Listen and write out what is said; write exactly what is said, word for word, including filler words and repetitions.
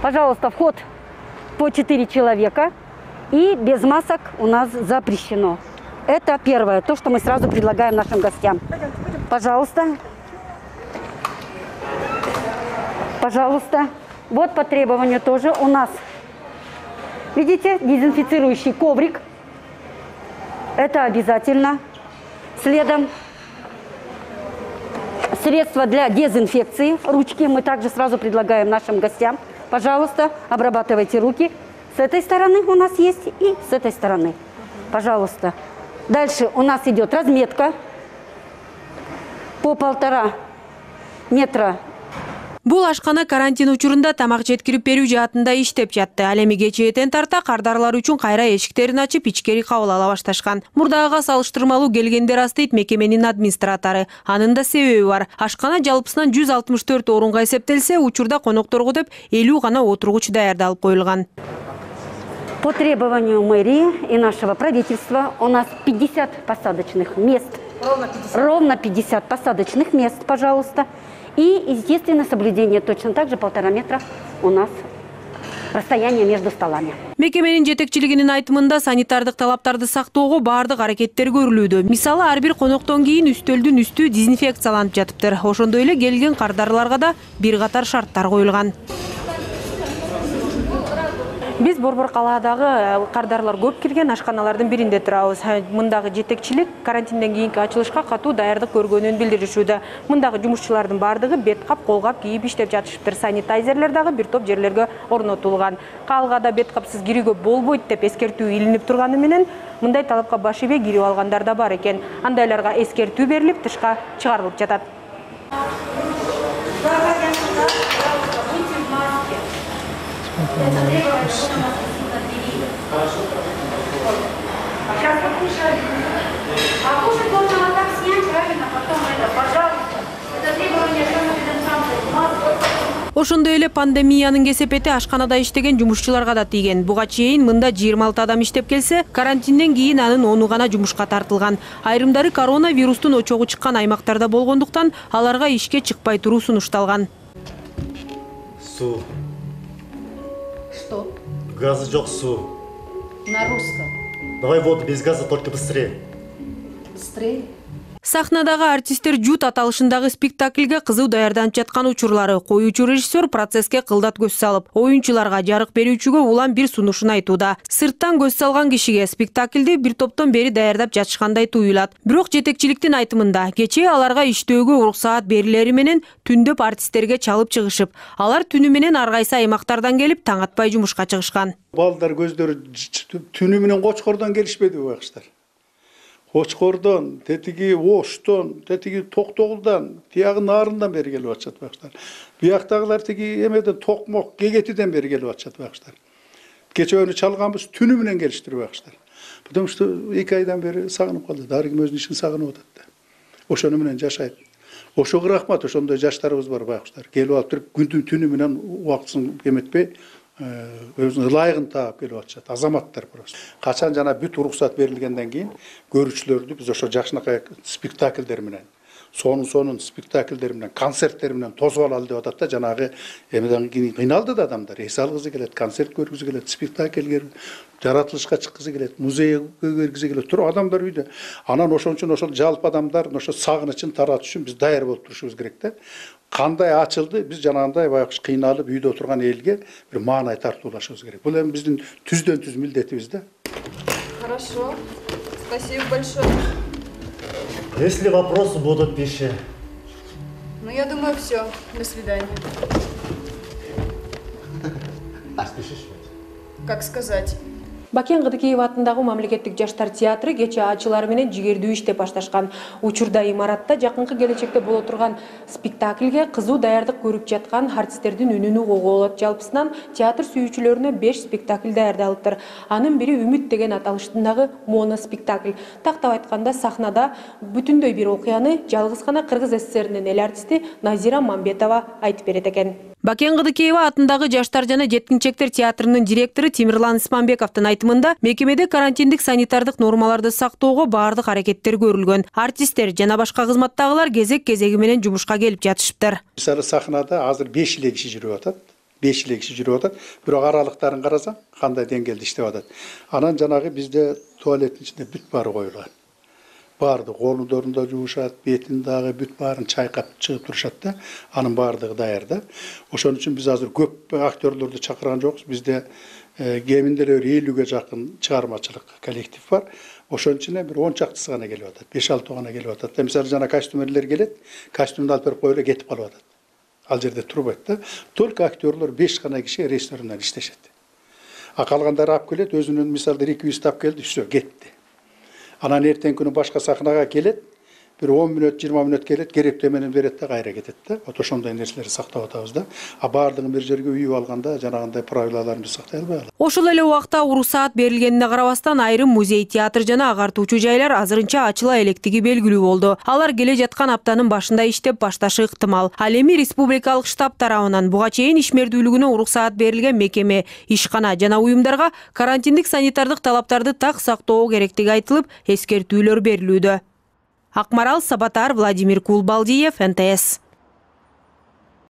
Пожалуйста, вход по четыре человека и без масок у нас запрещено. Это первое, то, что мы сразу предлагаем нашим гостям. Пожалуйста. Пожалуйста. Вот по требованию тоже у нас, видите, дезинфицирующий коврик. Это обязательно. Следом средства для дезинфекции. Ручки мы также сразу предлагаем нашим гостям. Пожалуйста, обрабатывайте руки. С этой стороны у нас есть и с этой стороны. Пожалуйста. Дальше у нас идет разметка по полтора метра. Бул ашкана карантин учурунда тамак жеткирип берүү жаатында иштеп жатты. Ал эми кечээден тарта кардарлар үчүн кайра эшиктерин ачып, ичкери кабыл ала башташкан. Мурдагыга салыштырмалуу келгендер аз дейт мекеменин администратору. Анын да себеби бар. Ашкана жалпысынан жүз алтымыш төрт орунга эсептелсе, учурда конокторго деп элүү гана отургуч даярдалып коюлган. По требованию мэрии и нашего правительства у нас пятьдесят посадочных мест. Ровно пятьдесят. Ровно пятьдесят посадочных мест, пожалуйста. И, естественно, соблюдение точно так же полтора метра у нас расстояние между столами. Мекеменин жетекчилигинин айтымында санитардык талаптарды сактоого баардык аракеттер көрүлүүдө. Мисалы, ар бир коноктон кийин үстөлдүн үстү дезинфекцияланып жатыптыр. Ошондой эле келген кардарларга да бир катар шарттар коюлган. Биз Борбор калаадагы кардарлар көп кирген ашканалардын биринде турабыз. Мындагы жетекчилик карантинден кийинки ачылышка катуу даярдык көргөнүн билдиришүүдө. Мындагы жумушчулардын баардыгы бет кап, кол кап кийип иштеп жатышыптыр. Санитайзерлер дагы бир топ жерлерге орнотулган. Калгада бет капсыз кирүүгө болбойт деп эскертүү илинип турганы менен мындай талапка баш ийбей кирип алгандар да бар экен. Андайларга эскертүү берилип, тышка чыгарылып жатат. Это требование, что у нас висит Хорошо. Сейчас покушаем. А кушать можно вот так снять, правильно? Потом это, пожалуйста. Это требование, что мы видим сам. Ошондой эле пандемиянын кесепети ашканада иштеген жумушчуларга да тийген. Буга чейин мында жыйырма алты адам иштеп келсе, карантинден кийин анын ону гана жумушка тартылган. Айрымдары коронавирустун очогу чыккан аймактарда болгондуктан аларга ишке чыкпай туруу сунушталган. Су. Что? Газы жок, су. На русском. Давай воду без газа, только быстрее. Быстрее? Сахнадагы артисттер жут аталышындагы спектакльге кызуу даярданып жаткан учурлары. Коюучу режиссер процесске кылдат көз салып, оюнчуларга, жарык берүүчүгө улам бир сунушун айтууда. Сырттан көз салган кишиге спектакльди бир топтон бери даярдап жатышкандай туюлат. Бирок жетекчиликтин айтымында, кечээ аларга иштөөгө уруксаат берилери менен түндөп артисттерге чалып чыгышып, алар түнү менен ар кайсы аймактардан келип таң атпай жумушка чыгышкан. Балдар көздөрү түнү менен Кочкордон келишпеди байкыштар. Кочкордон, тетиги Оштон, тетиги Токтогулдан, тиягы Нарындан бери келип атышат байкыштар. Бияктагылар тиги эмеден Токмок, Кегетиден бери келип атышат байкыштар. Кечөөнү чалганбыз, түнү менен келиштир байкыштар. Потому что эки айдан бери сагынып калды. Дарыгим өзүнүн ишин сагынып атат да. Ошону менен жашайт. Ошого рахмат, ошондой жаштарыбыз бар байкыштар. Келип алып туруп, күндүн түнү менен убактысын эметпей, өзүнүн ылайыгын таап келип атышат. Азаматтар просто. Качан жана бүт уруксат берилгенден кийин көрүүчүлөрдү биз ошо жакшынакай спектакльдер менен, сонун сонун спектакльдер менен, концерттер менен тосуп алалы деп атат да. Жанагы эмеден кийин кыйналды да адамдар. Эс алгысы келет, концерт көргүзү келет, спектакльге жаратылышка чыккысы келет, музейге киргизи келет. Туруп адамдар үйдө. Анан ошон үчүн ошол жалпы адамдар ошо сагынычын таратыш үчүн биз даяр болуп турушубуз керек да. Кандай ачылды, биз жанагындай байкуш кыйналып үйдө отурган элге бир маанай тартуулашыбыз керек. Бул эми биздин түздөн түз милдетибиз да. Хорошо. Спасибо большое. Если вопросы будут, пиши. Ну, я думаю, все. До свидания. А спешишь? Как сказать? Бакен Кыдыкеев атындагы мамлекеттик жаштар театры кече ачылары менен жигердүү иштеп башташкан. Учурда имаратта жакынкы келечекте боло турган спектакльге кызуу даярдык көрүп жаткан артисттердин үнүн угууга болот. Жалпысынан театр сүйүүчүлөрүнө беш спектакль даярдалыптыр. Анын бири Үмүт деген аталыштагы моноспектакль. Тактап айтканда сахнада бүтүндөй бир окуяны жалгыз гана Кыргыз СССРинин эл артисти Назира Мамбетова айтып берет экен. Бакен Кыдыкеева атындагы жаштар жана жеткинчектер театрынын директору Тимирлан Исманбековдун айтымында мекемеде карантиндик санитардык нормаларды сактоого баардык аракеттер көрүлгөн. Артисттер жана башка кызматтагылар кезек-кезеги менен жумушка келип жатышыптыр. Мисалы сахнада азыр беш эле киши жүрүп атат. беш эле киши жүрүп атат. Бирок аралыктарын карасаң, кандай деңгээлде иштеп атат. Анан жанагы бизде туалеттин ичинде бүт баары коюлган. Барды колдорун да жуушат, бетин дагы бүт баарын чайкап чыгып турушат да. Анын баардыгы даяр да. Ошон үчүн биз азыр көп актерлорду чакырган жокпуз. Бизде кеминде эле элүүгө жакын чыгармачылык коллектив бар. Ошон үчүн бир он чактысы гана келип атат, беш алты гана келип атат. Мисалы жана костюмерлер келет, костюмду алып берип коюп эле кетип калып атат. Ал жерде турбайт да. Только актерлор беш гана киши режиссерден иштешет. А калгандары алып келет, өзүнүн мисалда реквизит алып келди, все, кетти. Анан эртең күнү башка сахнага келет, бир он мүнөт, жыйырма мүнөт келет, керектеменин берет да, кайра кетет да. Вот ошондой нерселерди сактап атабыз да. А баардыгын бир жерге үйүп алганда жанагындай правилаларды сактай албай калат. Ошол эле убакта уруксаат берилгенине карабастан айрым музей, театр жана агартуучу жайлар азырынча ачыла электиги белгилүү болду. Алар келе жаткан аптанын башында иштеп башташы ыктымал. Ал эми республикалык штаб тарабынан буга чейин ишмердүүлүгүнө уруксаат берилген мекеме, ишкана жана уюмдарга карантиндик санитардык талаптарды так сактоо керектиги айтылып, эскертүүлөр берилүүдө. Акмарал Сабатар, Владимир Кулбалдиев, эн тэ эс.